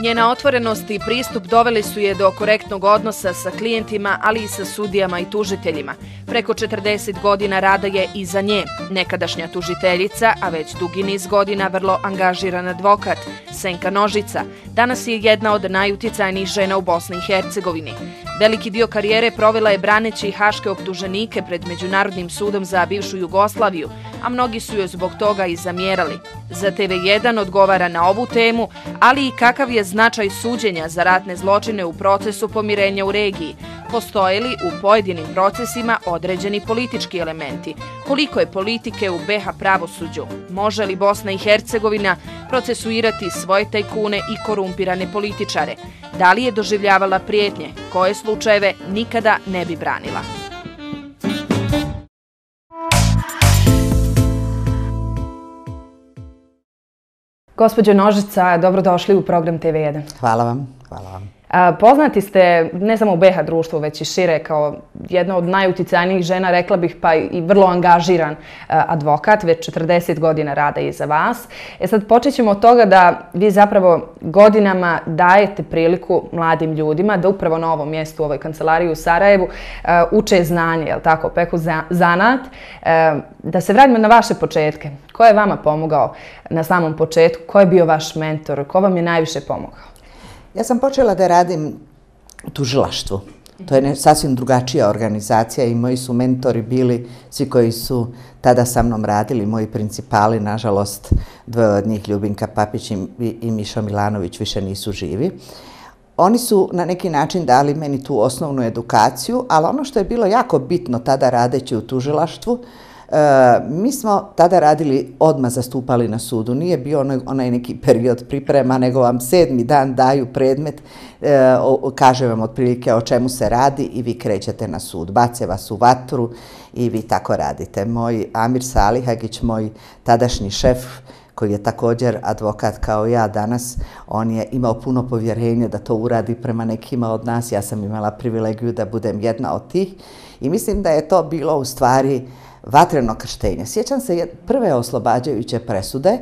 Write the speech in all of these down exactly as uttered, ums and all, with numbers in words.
Njena otvorenost i pristup doveli su je do korektnog odnosa sa klijentima, ali i sa sudijama i tužiteljima. Preko četrdeset godina rada je iza nje. Nekadašnja tužiteljica, a već dugi niz godina vrlo angažiran advokat, Senka Nožica, danas je jedna od najuticajnijih žena u Bosni i Hercegovini. Veliki dio karijere provela je braneći haške optuženike pred Međunarodnim sudom za bivšu Jugoslaviju, a mnogi su joj zbog toga i zamjerali. Za T V jedan odgovara na ovu temu, ali i kakav je značaj suđenja za ratne zločine u procesu pomirenja u regiji. Postoje li u pojedinim procesima određeni politički elementi? Koliko je politike u B iH pravosuđu? Može li Bosna i Hercegovina procesuirati svoje tajkune i korumpirane političare? Da li je doživljavala prijetnje? Koje slučajeve nikada ne bi branila? Gospođo Nožica, dobrodošli u program T V jedan. Hvala vam, hvala vam. Poznati ste ne samo u B iH društvu, već i šire kao jedna od najuticajnijih žena, rekla bih pa i vrlo angažiran advokat, već četrdeset godina rada iza vas. E sad počet ćemo od toga da vi zapravo godinama dajete priliku mladim ljudima da upravo na ovom mjestu u ovoj kancelariji u Sarajevu uče znanje, jel tako, peku zanat. Da se vratimo na vaše početke. Ko je vama pomogao na samom početku? Ko je bio vaš mentor? Ko vam je najviše pomogao? Ja sam počela da radim u tužilaštvu. To je sasvim drugačija organizacija i moji su mentori bili svi koji su tada sa mnom radili, moji principali, nažalost, dvoje od njih, Ljubinka Papić i Mišo Milanović, više nisu živi. Oni su na neki način dali meni tu osnovnu edukaciju, ali ono što je bilo jako bitno tada radeći u tužilaštvu, mi smo tada radili, odmah zastupali na sudu. Nije bio onaj neki period priprema, nego vam sedmi dan daju predmet, kaže vam otprilike o čemu se radi i vi krećete na sud. Bace vas u vatru i vi tako radite. Moj Amir Salihagić, moj tadašnji šef, koji je također advokat kao ja danas, on je imao puno povjerenja da to uradi prema nekima od nas. Ja sam imala privilegiju da budem jedna od tih i mislim da je to bilo u stvari vatreno krštenje. Sjećam se prve oslobađajuće presude.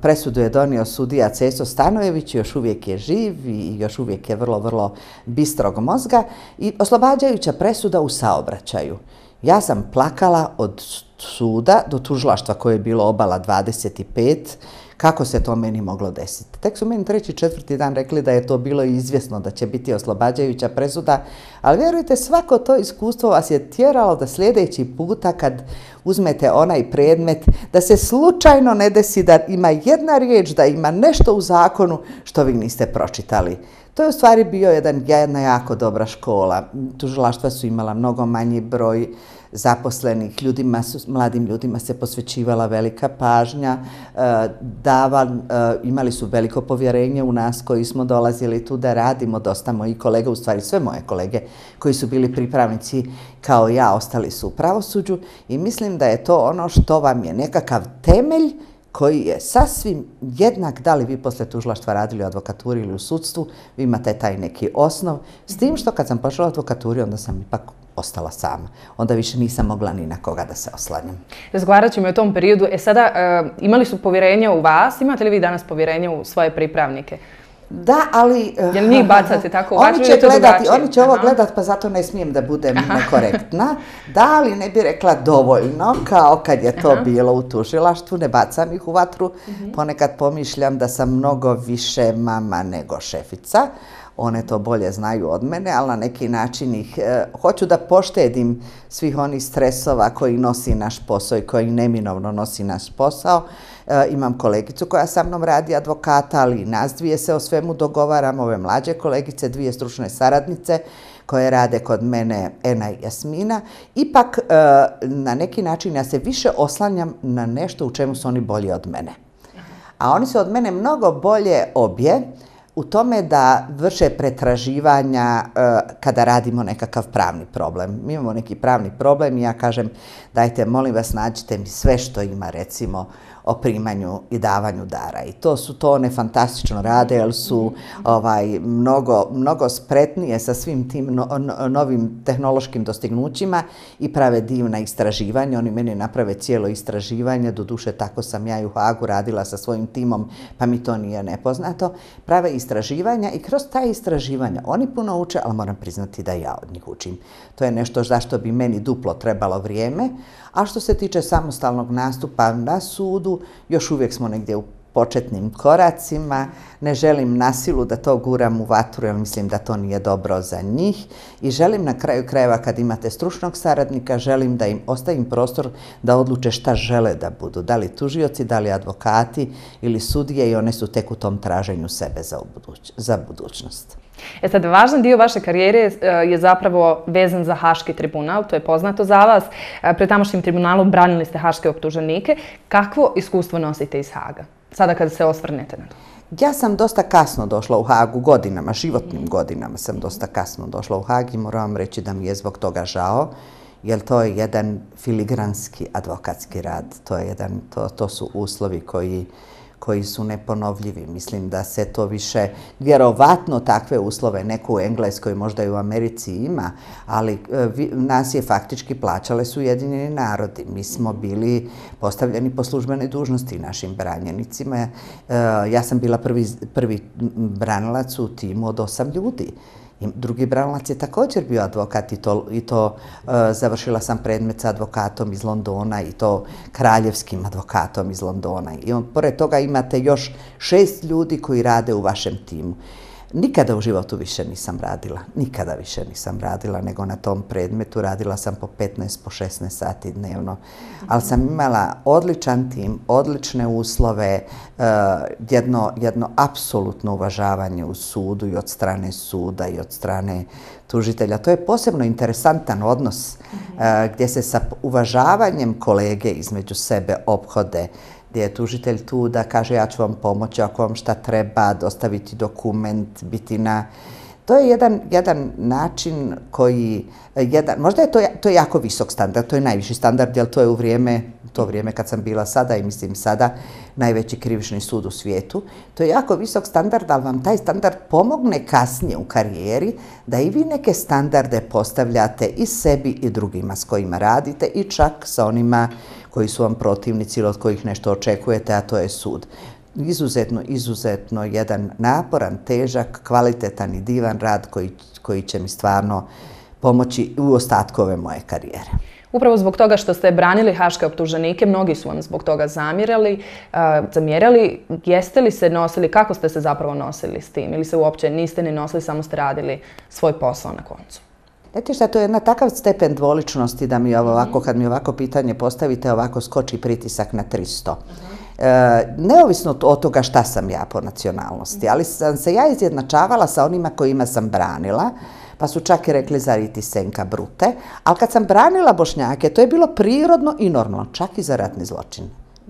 Presudu je donio sudija Ceso Stanojević, još uvijek je živ i još uvijek je vrlo, vrlo bistrog mozga. I oslobađajuća presuda u saobraćaju. Ja sam plakala od suda do tužilaštva koje je bilo obala dvadeset pet. Kako se to meni moglo desiti? Tek su meni treći, četvrti dan rekli da je to bilo izvjesno da će biti oslobađajuća presuda, ali vjerujte, svako to iskustvo vas je tjeralo da sljedeći puta kad uzmete onaj predmet, da se slučajno ne desi da ima jedna riječ, da ima nešto u zakonu što vi niste pročitali. To je u stvari bio jedan, jedna jako dobra škola. Tužilaštva su imala mnogo manji broj zaposlenih, ljudima su, mladim ljudima se posvećivala velika pažnja, dava, imali su veliko povjerenje u nas koji smo dolazili tu da radimo, dosta mojih kolega, u stvari sve moje kolege koji su bili pripravnici kao ja, ostali su u pravosuđu i mislim da je to ono što vam je nekakav temelj koji je sasvim jednak da li vi posle tužilaštva radili u advokaturi ili u sudstvu, vi imate taj neki osnov. S tim što kad sam počela u advokaturi, onda sam ipak ostala sama. Onda više nisam mogla ni na koga da se oslanjam. Razgovarat ćemo o tom periodu. E sada, imali su povjerenje u vas? Imate li vi danas povjerenje u svoje pripravnike? Da, ali... Jel njih bacate tako u vatru ili je to drugačije? Oni će ovo gledati, pa zato ne smijem da budem nekorektna. Da, ali ne bi rekla dovoljno, kao kad je to bilo u tužilaštvu, ne bacam ih u vatru. Ponekad pomišljam da sam mnogo više mama nego šefica. One to bolje znaju od mene, ali na neki način ih hoću da poštedim svih onih stresova koji nosi naš posao i koji neminovno nosi naš posao. Imam kolegicu koja sa mnom radi advokata, ali i nas dvije se o svemu dogovaramo, ove mlađe kolegice, dvije stručne saradnice koje rade kod mene, Ena i Jasmina. Ipak na neki način ja se više oslanjam na nešto u čemu su oni bolji od mene. A oni su od mene mnogo bolje obje u tome da vrše pretraživanja kada radimo nekakav pravni problem. Mi imamo neki pravni problem i ja kažem, dajte, molim vas, nađite mi sve što ima, recimo, o primanju i davanju dara. I to su to one fantastično rade, jer su ovaj, mnogo, mnogo spretnije sa svim tim no, no, novim tehnološkim dostignućima i prave divna istraživanja. Oni meni naprave cijelo istraživanje, doduše tako sam ja i u Hagu radila sa svojim timom, pa mi to nije nepoznato. Prave istraživanja i kroz ta istraživanja oni puno uče, ali moram priznati da ja od njih učim. To je nešto zašto bi meni duplo trebalo vrijeme. A što se tiče samostalnog nastupa na sudu, još uvijek smo negdje u početnim koracima. Ne želim na silu da to guram u vatru, jer mislim da to nije dobro za njih. I želim na kraju krajeva, kad imate stručnog saradnika, želim da im ostavim prostor da odluče šta žele da budu. Da li tužioci, da li advokati ili sudije, i one su tek u tom traženju sebe za, buduć, za budućnost. E sad, važan dio vaše karijere je zapravo vezan za Haški tribunal, to je poznato za vas. Pred tamošnjim tribunalom branili ste haške optuženike. Kakvo iskustvo nosite iz Haga, sada kada se osvrnete na to? Ja sam dosta kasno došla u Hagu, godinama, životnim godinama sam dosta kasno došla u Hag i moram vam reći da mi je zbog toga žao, jer to je jedan filigranski advokatski rad, to, je jedan, to, to su uslovi koji koji su neponovljivi. Mislim da se to više, vjerovatno takve uslove neko u Engleskoj, možda i u Americi ima, ali vi, nas je faktički plaćale su Ujedinjeni narodi. Mi smo bili postavljeni po službenoj dužnosti našim branjenicima. E, ja sam bila prvi, prvi branilac u timu od osam ljudi. I drugi branilac je također bio advokat i to, i to uh, završila sam predmet sa advokatom iz Londona i to kraljevskim advokatom iz Londona. I on, pored toga imate još šest ljudi koji rade u vašem timu. Nikada u životu više nisam radila, nikada više nisam radila nego na tom predmetu. Radila sam po petnaest, po šesnaest sati dnevno, ali sam imala odličan tim, odlične uslove, uh, jedno, jedno apsolutno uvažavanje u sudu i od strane suda i od strane tužitelja. To je posebno interesantan odnos uh, gdje se sa uvažavanjem kolege između sebe ophode, gdje je tužitelj tu da kaže ja ću vam pomoći ako vam šta treba, dostaviti dokument, biti na... To je jedan, jedan način koji, jedan, možda je to, to je jako visok standard, to je najviši standard, jer to je u vrijeme, to vrijeme kad sam bila sada i mislim sada, najveći krivični sud u svijetu. To je jako visok standard, ali vam taj standard pomogne kasnije u karijeri da i vi neke standarde postavljate i sebi i drugima s kojima radite i čak sa onima koji su vam protivnici ili od kojih nešto očekujete, a to je sud. Izuzetno, izuzetno jedan naporan, težak, kvalitetan i divan rad koji, koji će mi stvarno pomoći u ostatkove moje karijere. Upravo zbog toga što ste branili haške optuženike, mnogi su vam zbog toga zamjerali. Uh, zamjerali, jeste li se nosili, kako ste se zapravo nosili s tim? Ili se uopće niste ni nosili, samo ste radili svoj posao na koncu? Znate šta, to je jedna takav stepen dvoličnosti da mi ovako, kad mi ovako pitanje postavite, ovako skoči pritisak na tristo. Uh-huh. E, neovisno od toga šta sam ja po nacionalnosti, ali sam se ja izjednačavala sa onima kojima sam branila, pa su čak i rekli zar i ti senka brute, ali kad sam branila Bošnjake, to je bilo prirodno i normalno, čak i za ratni zločin.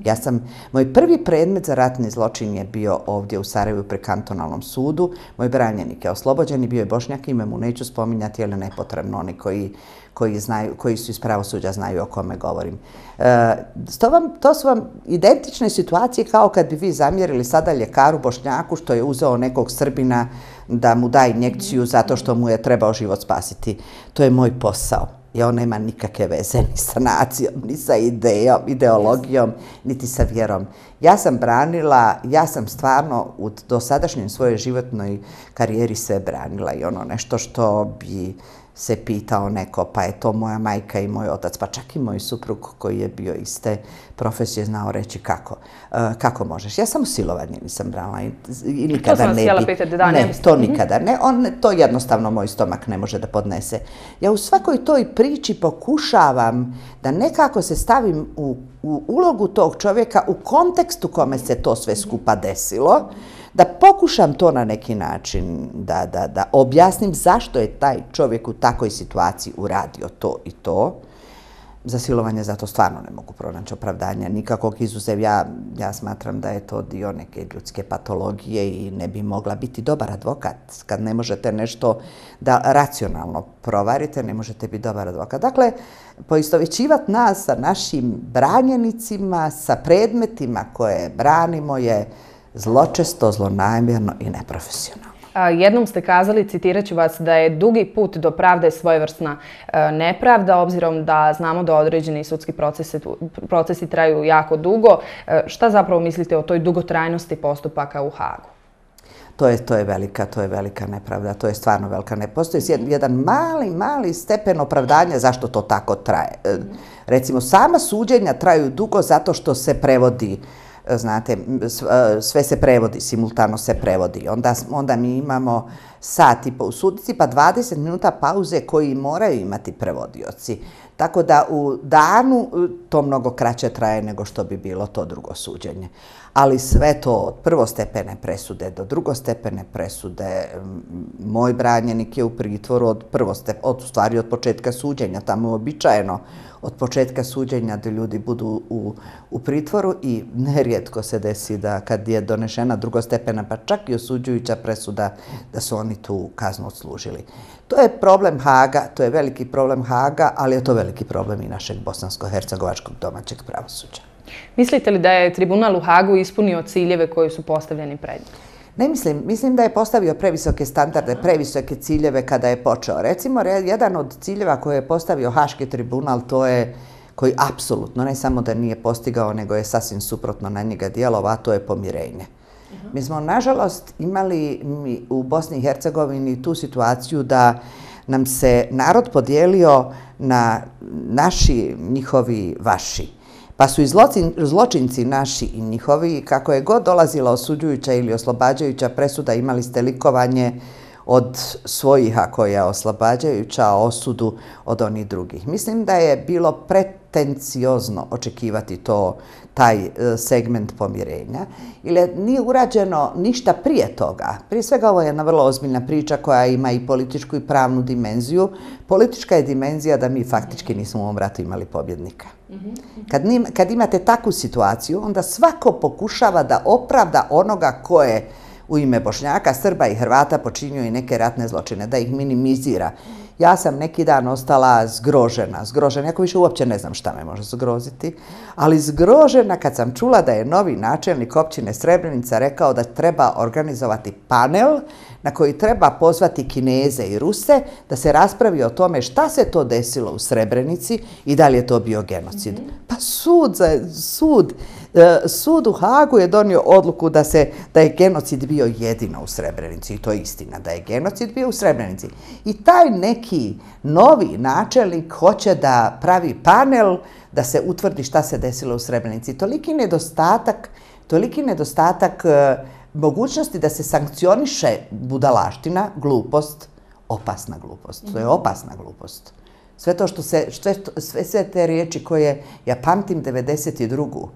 Ja sam, moj prvi predmet za ratni zločin je bio ovdje u Sarajevu pri kantonalnom sudu. Moj branjenik je oslobođen i bio je Bošnjak, ime mu neću spominjati, jer je nepotrebno, oni koji, koji, znaju, koji su iz pravosuđa znaju o kome govorim. E, to, vam, to su vam identične situacije kao kad bi vi zamjerili sada ljekaru Bošnjaku što je uzeo nekog Srbina da mu da injekciju zato što mu je trebao život spasiti. To je moj posao. I on nema nikakve veze ni sa nacijom, ni sa idejom, ideologijom, niti sa vjerom. Ja sam branila, ja sam stvarno u dosadašnjoj svojoj životnoj karijeri sve branila i ono nešto što bi se pitao neko, pa je to moja majka i moj otac, pa čak i moj suprug koji je bio iste profesije znao reći kako. Uh, kako možeš? Ja samo silovanje nisam branila i, i nikada ne bi. Pitati, da, ne, to nikada ne. On, to jednostavno moj stomak ne može da podnese. Ja u svakoj toj priči pokušavam da nekako se stavim u, u ulogu tog čovjeka u kontekstu kome se to sve skupa desilo, da pokušam to na neki način da, da, da objasnim zašto je taj čovjek u takvoj situaciji uradio to i to. za silovanje, zato stvarno ne mogu pronaći opravdanja nikakvog, izuzev ja, ja smatram da je to dio neke ljudske patologije i ne bi mogla biti dobar advokat. Kad ne možete nešto da racionalno provarite, ne možete biti dobar advokat. Dakle, poistovjećivati nas sa našim branjenicima, sa predmetima koje branimo je zločesto, zlonamjerno i neprofesionalno. Jednom ste kazali, citirat ću vas, da je dugi put do pravde svojevrsna nepravda, obzirom da znamo da određeni sudski procesi, procesi traju jako dugo. Šta zapravo mislite o toj dugotrajnosti postupaka u Hagu? To je, to je velika, to je velika nepravda, to je stvarno velika nepravda. Postoji jedan mali, mali stepen opravdanja zašto to tako traje. Recimo, sama suđenja traju dugo zato što se prevodi, znate, sve se prevodi, simultano se prevodi. Onda, onda mi imamo sat i po u sudnici, pa dvadeset minuta pauze koji moraju imati prevodioci. Tako da u danu to mnogo kraće traje nego što bi bilo to drugo suđenje. Ali sve to od prvostepene presude do drugostepene presude, moj branjenik je u pritvoru od prvostep, od stvari od početka suđenja, tamo je uobičajeno od početka suđenja da ljudi budu u, u pritvoru i nerijetko se desi da kad je donešena drugostepena, pa čak i osuđujuća presuda, da su oni tu kaznu odslužili. To je problem Haga, to je veliki problem Haga, ali je to veliki problem i našeg bosansko-hercegovačkog domaćeg pravosuđa. Mislite li da je tribunal u Hagu ispunio ciljeve koji su postavljeni pred njim? Ne mislim. Mislim da je postavio previsoke standarde, previsoke ciljeve kada je počeo. Recimo, jedan od ciljeva koje je postavio Haški tribunal, to je koji apsolutno ne samo da nije postigao, nego je sasvim suprotno na njega djelovao, a to je pomirenje. Mi smo, nažalost, imali u Bosni i Hercegovini tu situaciju da nam se narod podijelio na naši, njihovi, vaši. Pa su i zločinci naši i njihovi, kako je god dolazila osuđujuća ili oslobađajuća presuda, imali ste likovanje od svojih, ako je oslobađajuća, osudu od onih drugih. Mislim da je bilo pretenciozno očekivati to, taj segment pomirenja, jer nije urađeno ništa prije toga. Prije svega ovo je jedna vrlo ozbiljna priča koja ima i političku i pravnu dimenziju. Politička je dimenzija da mi faktički nismo u ovom ratu imali pobjednika. Kad, kad imate takvu situaciju, onda svako pokušava da opravda onoga ko je u ime Bošnjaka, Srba i Hrvata počinio i neke ratne zločine, da ih minimizira. Ja sam neki dan ostala zgrožena, zgrožena, jako više uopće ne znam šta me može zgroziti, ali zgrožena kad sam čula da je novi načelnik općine Srebrenica rekao da treba organizovati panel na koji treba pozvati Kineze i Ruse da se raspravi o tome šta se to desilo u Srebrenici i da li je to bio genocid. Mm-hmm. Pa sud, sud, sud u Hagu je donio odluku da, se, da je genocid bio jedino u Srebrenici i to je istina, da je genocid bio u Srebrenici. I taj neki novi načelnik hoće da pravi panel da se utvrdi šta se desilo u Srebrenici. Toliki nedostatak, toliki nedostatak mogućnosti da se sankcioniše budalaština, glupost, opasna glupost. To je opasna glupost. Sve to što se, sve, sve te riječi koje ja pamtim devedeset drugu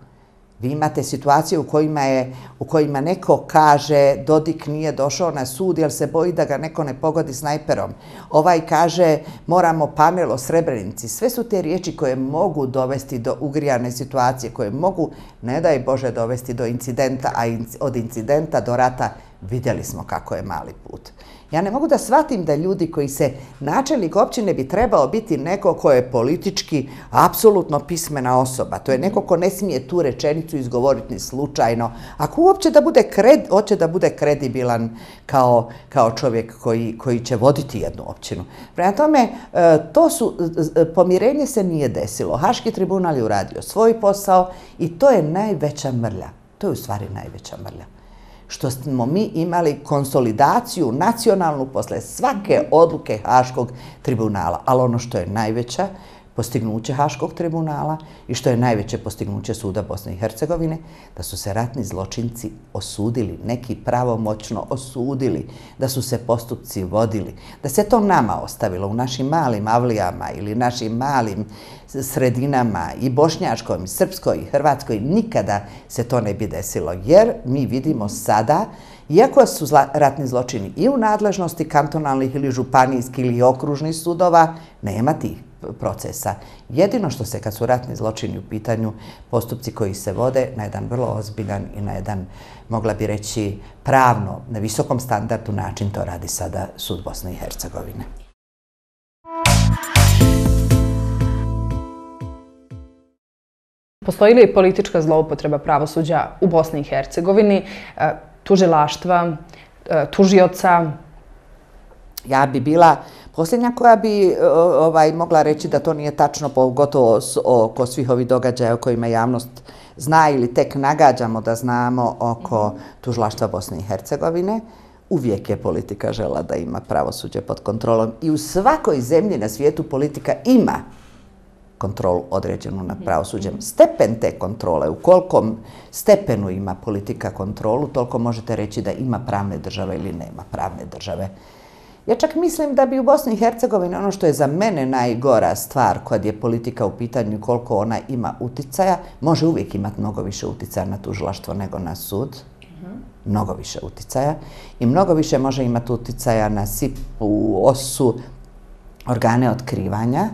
Vi imate situacije u kojima, je, u kojima neko kaže Dodik nije došao na sud jer se boji da ga neko ne pogodi snajperom. Ovaj kaže moramo panel o Srebrenici. Sve su te riječi koje mogu dovesti do ugrijane situacije, koje mogu, ne daj Bože, dovesti do incidenta, a od incidenta do rata vidjeli smo kako je mali put. Ja ne mogu da shvatim da ljudi koji se, načelnik općine bi trebao biti neko ko je politički apsolutno pismena osoba. To je neko ko ne smije tu rečenicu izgovoriti ni slučajno. Ako uopće da bude, kred, hoće da bude kredibilan kao, kao čovjek koji, koji će voditi jednu općinu. Prema tome, to su, pomirenje se nije desilo. Haški tribunal je uradio svoj posao i to je najveća mrlja. To je u stvari najveća mrlja. Što smo mi imali konsolidaciju nacionalnu posle svake odluke Haškog tribunala. Ali ono što je najveća postignuće Haškog tribunala i što je najveće postignuće Suda Bosne i Hercegovine, da su se ratni zločinci osudili, neki pravomoćno osudili, da su se postupci vodili, da se to nama ostavilo u našim malim avlijama ili našim malim sredinama i bošnjačkoj, i srpskoj, i hrvatskoj, nikada se to ne bi desilo. Jer mi vidimo sada, iako su zla, ratni zločini i u nadležnosti kantonalnih ili županijskih ili okružnih sudova, nema tih procesa. Jedino što se, kad su ratni zločini u pitanju, postupci koji se vode na jedan vrlo ozbiljan i na jedan, mogla bi reći, pravno, na visokom standardu način, to radi sada sud Bosne i Hercegovine. Postoji li politička zloupotreba pravosuđa u Bosni i Hercegovini, tužilaštva, tužioca? Ja bi bila posljednja koja bi ovaj, mogla reći da to nije tačno, pogotovo oko svih ovih događaja o kojima javnost zna ili tek nagađamo da znamo oko tužilaštva Bosne i Hercegovine. Uvijek je politika žela da ima pravosuđe pod kontrolom i u svakoj zemlji na svijetu politika ima kontrolu određenu nad pravosuđem. Stepen te kontrole, u kolikom stepenu ima politika kontrolu, toliko možete reći da ima pravne države ili nema pravne države. Ja čak mislim da bi u Bosni i Hercegovini ono što je za mene najgora stvar kad je politika u pitanju koliko ona ima uticaja, može uvijek imati mnogo više uticaja na tužilaštvo nego na sud. Mnogo više uticaja. I mnogo više može imati uticaja na S I P, u O S U, organe otkrivanja,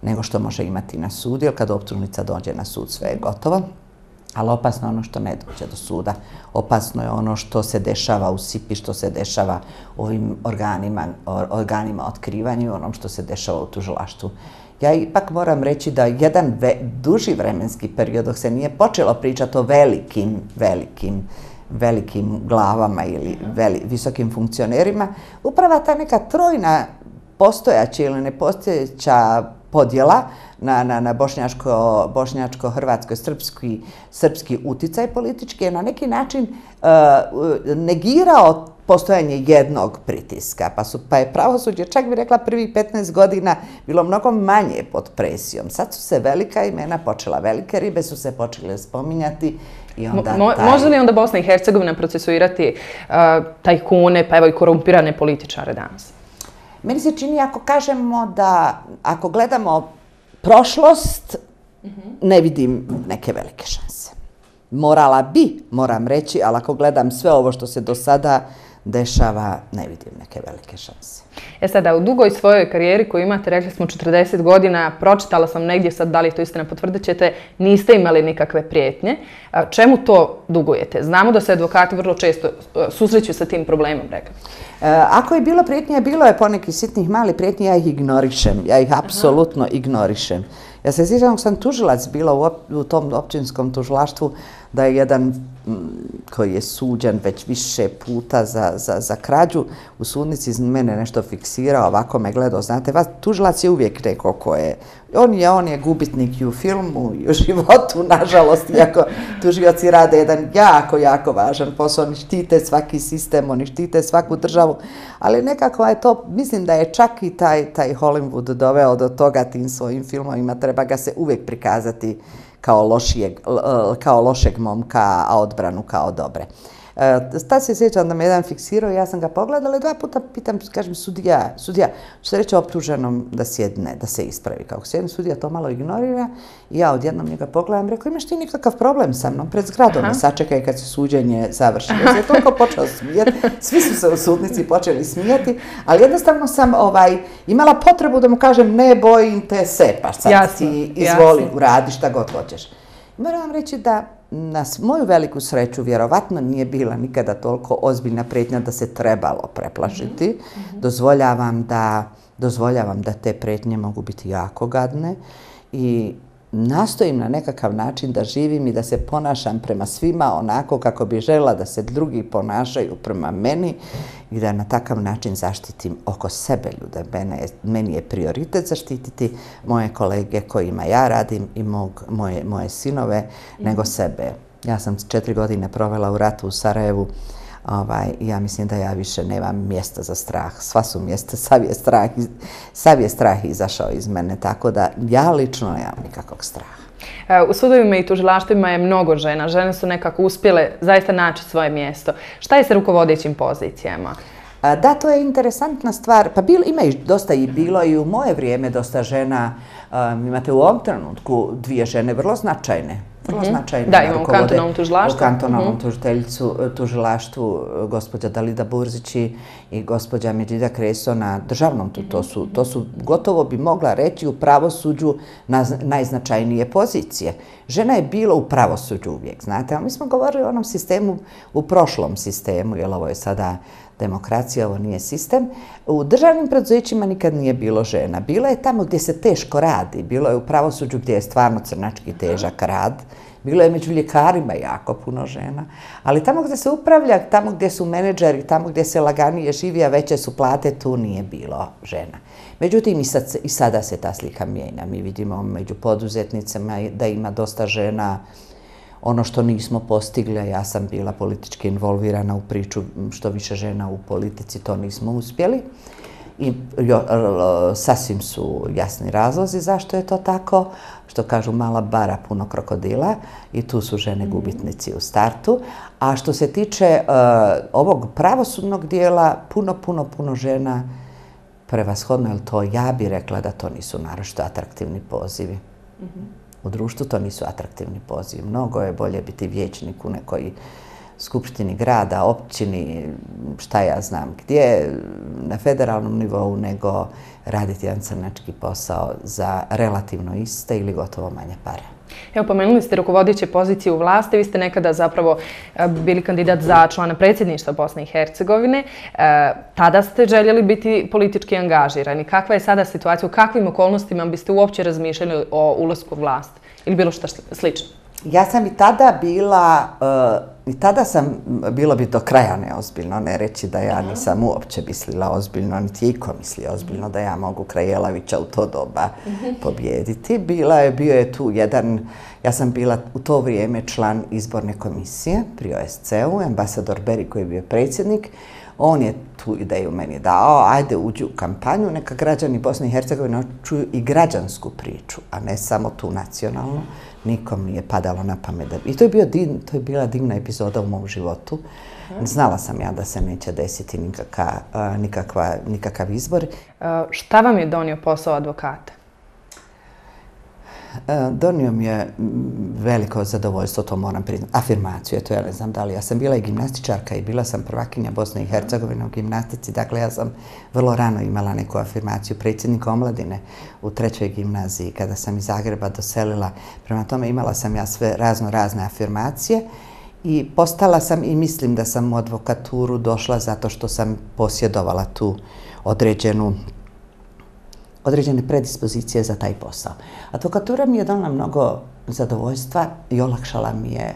nego što može imati na sudu, jer kad optužnica dođe na sud sve je gotovo. Ali opasno je ono što ne dođe do suda. Opasno je ono što se dešava u S I P I, što se dešava u ovim organima, organima otkrivanja i onom što se dešava u tužilaštvu. Ja ipak moram reći da jedan ve, duži vremenski period dok se nije počelo pričati o velikim, velikim, velikim glavama ili veli, visokim funkcionerima, upravo ta neka trojna postojaća ili nepostojeća podjela na, na, na bošnjačko, bošnjačko, hrvatsko, srpski, srpski uticaj politički je na neki način uh, negirao postojanje jednog pritiska. Pa, su, pa je pravosuđe, čak bi rekla, prvih petnaest godina bilo mnogo manje pod presijom. Sad su se velika imena počela, velike ribe su se počele spominjati. I onda Mo, taj... Može li onda Bosna i Hercegovina procesuirati uh, tajkune, pa evo i korumpirane političare danas? Meni se čini, ako kažemo da, ako gledamo prošlost, ne vidim neke velike šanse. Morala bi, moram reći, ali ako gledam sve ovo što se do sada dešava, ne vidim neke velike šanse. E sada, u dugoj svojoj karijeri koju imate, rekli smo četrdeset godina, pročitala sam negdje, sad da li to istina potvrdit ćete, niste imali nikakve prijetnje. Čemu to dugujete? Znamo da se advokati vrlo često susreću sa tim problemom, rekli. Ako je bilo prijetnje, bilo je poneki sitnih mali prijetnji, ja ih ignorišem, ja ih apsolutno Aha. ignorišem. Ja se sjećam dok sam tužilac bila u, op, u tom općinskom tužilaštvu, da je jedan koji je suđen već više puta za, za, za krađu, u sudnici iz mene nešto fiksirao, ovako me gledao. Znate, vas, tužilac je uvijek neko ko je, on je, on je gubitnik i u filmu i u životu, nažalost, iako tužioci rade jedan jako, jako važan posao, oni štite svaki sistem, oni štite svaku državu, ali nekako je to, mislim da je čak i taj, taj Hollywood doveo do toga tim svojim filmovima, treba ga se uvijek prikazati kao, lošijeg, kao lošeg momka, a odbranu kao dobre. Tad se sjećam da me jedan fiksirao, ja sam ga pogledala i dva puta pitam, kažem, sudija, sudija, što se reći optuženom da sjedne, da se ispravi. Kako sjedne, sudija to malo ignorira i ja odjednom njega pogledam, rekao, imaš ti nikakav problem sa mnom pred zgradom, ne sačekaj kad se suđenje završi. Ja se toliko počeo smijeti, svi su se u sudnici počeli smijeti, ali jednostavno sam ovaj, imala potrebu da mu kažem, ne bojim te se, pa sad jasno, ti izvoli, jasno. Uradi šta god hoćeš. Moram vam reći da na moju veliku sreću vjerovatno nije bila nikada toliko ozbiljna prijetnja da se trebalo preplašiti. Mm-hmm. Dozvoljavam da, dozvoljavam da te prijetnje mogu biti jako gadne i nastojim na nekakav način da živim i da se ponašam prema svima onako kako bi željela da se drugi ponašaju prema meni i da na takav način zaštitim oko sebe ljude. Mene, meni je prioritet zaštititi moje kolege kojima ja radim i mog, moje, moje sinove mm-hmm. nego sebe. Ja sam četiri godine provela u ratu u Sarajevu. Ovaj, ja mislim da ja više nemam mjesta za strah. Sva su mjesta, sav je strah, sav je strah izašao iz mene, tako da ja lično nemam nikakvog straha. U sudovima i tužilaštvima je mnogo žena. Žene su nekako uspjele zaista naći svoje mjesto. Šta je sa rukovodećim pozicijama? Da, to je interesantna stvar. Pa bil, ima i dosta i bilo i u moje vrijeme dosta žena. Um, imate u ovom trenutku dvije žene vrlo značajne. vrlo značajno. Da, imamo u kantonalnom tužilaštvu. U kantonalnom tužilaštvu gospođa Dalida Burzić i gospođa Međida Kreso na državnom. To su, gotovo bi mogla reći, u pravosuđu najznačajnije pozicije. Žena je bila u pravosuđu uvijek, znate, ali mi smo govorili o onom sistemu, u prošlom sistemu, jer ovo je sada demokracija, ovo nije sistem. U državnim preduzećima nikad nije bilo žena. Bilo je tamo gdje se teško radi, bilo je u pravosuđu gdje je stvarno crnački težak rad, bilo je među ljekarima jako puno žena, ali tamo gdje se upravlja, tamo gdje su menadžeri, tamo gdje se laganije živi, a veće su plate, tu nije bilo žena. Međutim, i sada se ta slika mijenja. Mi vidimo među poduzetnicama da ima dosta žena. Ono što nismo postigli, a ja sam bila politički involvirana u priču što više žena u politici, to nismo uspjeli. I sasvim su jasni razlozi zašto je to tako. Što kažu, mala bara, puno krokodila, i tu su žene gubitnici u startu. A što se tiče ovog pravosudnog dijela, puno, puno, puno žena prevashodno, jer to ja bih rekla da to nisu naročito atraktivni pozivi. U društvu to nisu atraktivni pozivi. Mnogo je bolje biti vijećnik u nekoj skupštini grada, općini, šta ja znam gdje, na federalnom nivou, nego raditi jedan crnački posao za relativno iste ili gotovo manje pare. Evo, pomenuli ste rukovodeće pozicije u vlasti, vi ste nekada zapravo bili kandidat za člana predsjedništva Bosne i Hercegovine. Tada ste željeli biti politički angažirani. Kakva je sada situacija, u kakvim okolnostima biste uopće razmišljali o ulasku u vlast ili bilo što slično? Ja sam i tada bila, i tada sam, bilo bi do kraja neozbiljno, ne reći da ja nisam uopće mislila ozbiljno, niti iko misli ozbiljno da ja mogu kraj Jelavića u to doba pobijediti. Bila je, bio je tu jedan, ja sam bila u to vrijeme član izborne komisije pri O S C U, ambasador Beri koji je bio predsjednik. On je tu ideju meni dao, ajde uđi u kampanju, neka građani Bosne i Hercegovine čuju i građansku priču, a ne samo tu nacionalnu. Nikom nije padalo na pamet. I to je, bio din, to je bila divna epizoda u mom životu. Znala sam ja da se neće desiti nikaka, nikakva, nikakav izbor. Šta vam je donio posao advokata? Donio mi je veliko zadovoljstvo, to moram priznati, afirmaciju, eto ja ne znam da li, ja sam bila i gimnastičarka i bila sam prvakinja Bosne i Hercegovine u gimnastici, dakle ja sam vrlo rano imala neku afirmaciju predsjednika omladine u trećoj gimnaziji kada sam iz Zagreba doselila, prema tome imala sam ja sve razno razne afirmacije i postala sam i mislim da sam u advokaturu došla zato što sam posjedovala tu određenu određene predispozicije za taj posao. Advokatura mi je donala mnogo zadovoljstva i olakšala mi je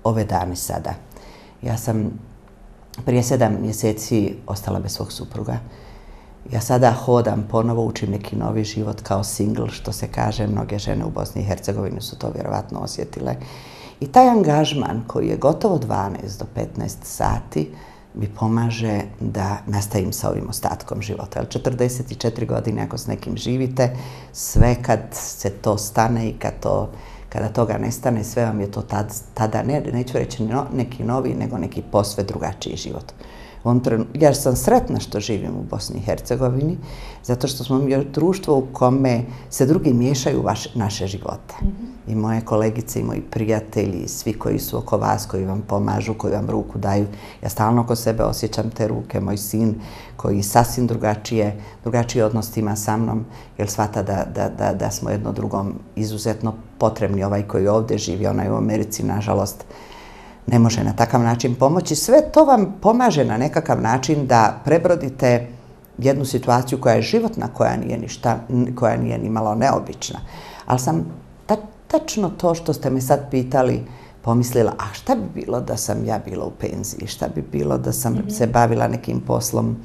ove dane sada. Ja sam prije sedam mjeseci ostala bez svog supruga. Ja sada hodam, ponovo učim neki novi život kao single, što se kaže, mnoge žene u Bosni i Hercegovini su to vjerovatno osjetile. I taj angažman koji je gotovo dvanaest do petnaest sati mi pomaže da nastavim sa ovim ostatkom života. Jer četrdeset četiri godine ako s nekim živite, sve kad se to stane i kad to, kada toga nestane, sve vam je to tad, tada, ne, neću reći no, neki novi, nego neki posve drugačiji život. Ja sam sretna što živim u Bosni i Hercegovini, zato što smo mi društvo u kome se drugi miješaju u vaš, naše živote. Mm-hmm. I moje kolegice i moji prijatelji, svi koji su oko vas, koji vam pomažu, koji vam ruku daju. Ja stalno oko sebe osjećam te ruke. Moj sin koji sasvim drugačije, drugačiji odnos ima sa mnom, jer shvata da, da, da, da smo jedno drugom izuzetno potrebni. Ovaj koji ovdje živi, onaj u Americi, nažalost, ne može na takav način pomoći. Sve to vam pomaže na nekakav način da prebrodite jednu situaciju koja je životna, koja nije ništa, koja nije ni malo neobična. Ali sam ta, tačno to što ste me sad pitali pomislila, a šta bi bilo da sam ja bila u penziji, šta bi bilo da sam mm-hmm. se bavila nekim poslom,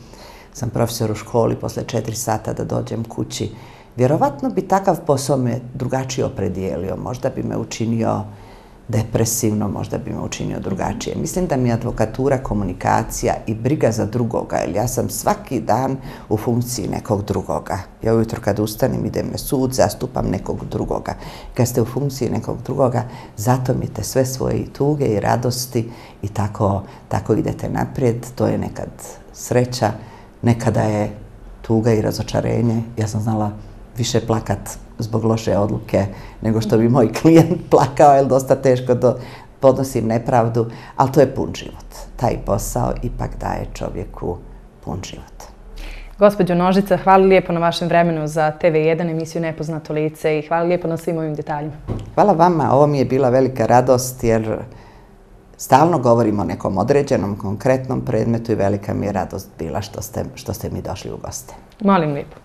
sam profesor u školi, posle četiri sata da dođem kući. Vjerovatno bi takav posao me drugačije opredijelio, možda bi me učinio depresivno, možda bi me učinio drugačije. Mislim da mi je advokatura, komunikacija i briga za drugoga, jer ja sam svaki dan u funkciji nekog drugoga. Ja ujutro kad ustanem idem na sud, zastupam nekog drugoga. Kad ste u funkciji nekog drugoga, zatomite sve svoje tuge i radosti i tako, tako idete naprijed. To je nekad sreća, nekada je tuga i razočarenje. Ja sam znala više plakat zbog loše odluke nego što bi moj klijent plakao, jer dosta teško do, podnosim nepravdu, ali to je pun život. Taj posao ipak daje čovjeku pun život. Gospođo Nožica, hvala lijepo na vašem vremenu za T V jedan emisiju Nepoznato lice i hvala lijepo na svim ovim detaljima. Hvala vama, ovo mi je bila velika radost jer stalno govorimo o nekom određenom, konkretnom predmetu i velika mi je radost bila što ste, što ste mi došli u goste. Molim lijepo.